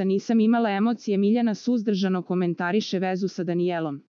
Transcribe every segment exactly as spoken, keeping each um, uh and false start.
nisam imala emocije. Miljana suzdržano komentariše vezu sa Danijelom.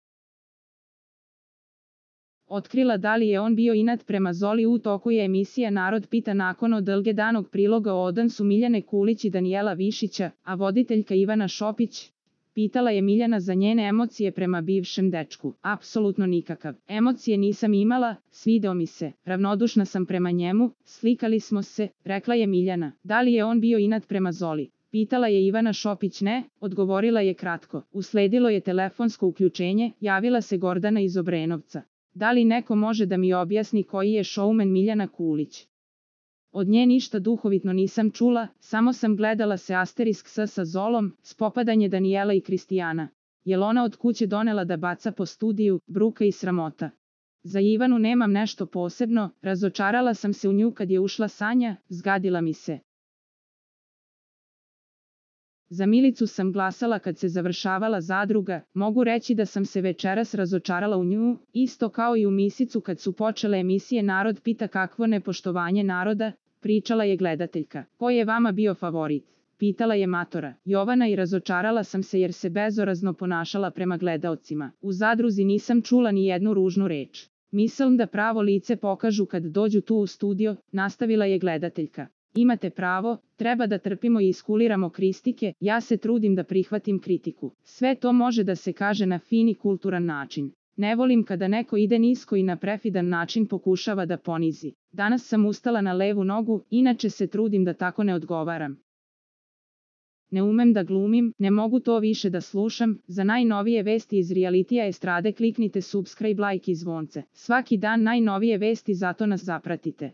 Otkrila da li je on bio inat prema Zoli. U toku je emisija Narod pita. Nakon odlge danog priloga o odnosu Miljane Kulić i Danijela Višića, a voditeljka Ivana Šopić, pitala je Miljana za njene emocije prema bivšem dečku. Apsolutno nikakav. Emocije nisam imala, svideo mi se, ravnodušna sam prema njemu, slikali smo se, rekla je Miljana. Da li je on bio inat prema Zoli? Pitala je Ivana Šopić. Ne, odgovorila je kratko. Usledilo je telefonsko uključenje, javila se Gordana iz Obrenovca. Da li neko može da mi objasni koji je šoumen Miljana Kulić? Od nje ništa duhovitno nisam čula, samo sam gledala se asterisk s sa Zolom, spopadanje Danijela i Kristijana. Jel ona od kuće donela da baca po studiju, bruka i sramota. Za Ivanu nemam nešto posebno, razočarala sam se u nju kad je ušla Sanja, zgadila mi se. Za Milicu sam glasala kad se završavala zadruga, mogu reći da sam se večeras razočarala u nju, isto kao i u Misicu kad su počele emisije Narod pita. Kakvo nepoštovanje naroda, pričala je gledateljka. Ko je vama bio favorit? Pitala je matora. Jovana, i razočarala sam se jer se bezorazno ponašala prema gledaocima. U zadruzi nisam čula ni jednu ružnu reč. Mislim da pravo lice pokažu kad dođu tu u studio, nastavila je gledateljka. Imate pravo, treba da trpimo i iskuliramo kritike, ja se trudim da prihvatim kritiku. Sve to može da se kaže na fin i kulturan način. Ne volim kada neko ide nisko i na prefidan način pokušava da ponizi. Danas sam ustala na levu nogu, inače se trudim da tako ne odgovaram. Ne umem da glumim, ne mogu to više da slušam. Za najnovije vesti iz realitija estrade kliknite subscribe, like i zvonce. Svaki dan najnovije vesti, zato nas zapratite.